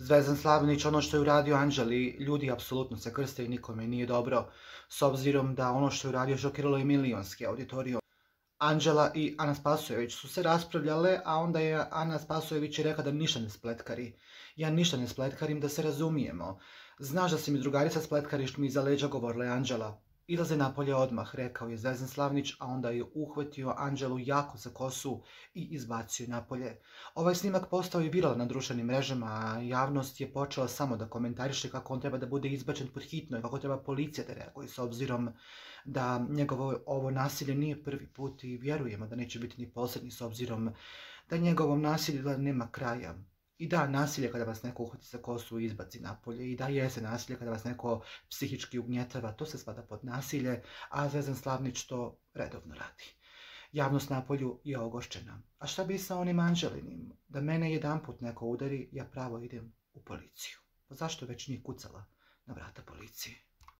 Zvezdan Slavnić, ono što je uradio Anđeli, ljudi apsolutno se krste i nikome nije dobro, s obzirom da ono što je uradio šokiralo je milionski auditorijum. Anđela i Ana Spasojević su se raspravljale, a onda je Ana Spasojević rekla da ništa ne spletkari. Ja ništa ne spletkarim, da se razumijemo. Znaš da si mi drugarica spletkariš, mi iza leđa, govorila je Anđela. Izlazi napolje odmah, rekao je Zvezdan Slavnić, a onda je uhvatio Anđelu jako za kosu i izbacio je napolje. Ovaj snimak postao je viralan na društvenim mrežama, a javnost je počela samo da komentariše kako on treba da bude izbačen pod hitno i kako treba policija da reaguje, s obzirom da njegovo ovo nasilje nije prvi put i vjerujemo da neće biti ni posljednji, s obzirom da njegovom nasilju nema kraja. I da, nasilje kada vas neko uhvati za kosu i izbaci napolje. I da, jeste nasilje kada vas neko psihički ugnjetava, to se spada pod nasilje, a Zvezdan Slavnić to redovno radi. Javnost napolju je ogošćena. A šta bi sa onim Anđelinim? Da mene jedanput neko udari, ja pravo idem u policiju. Pa zašto već nije kucala na vrata policije?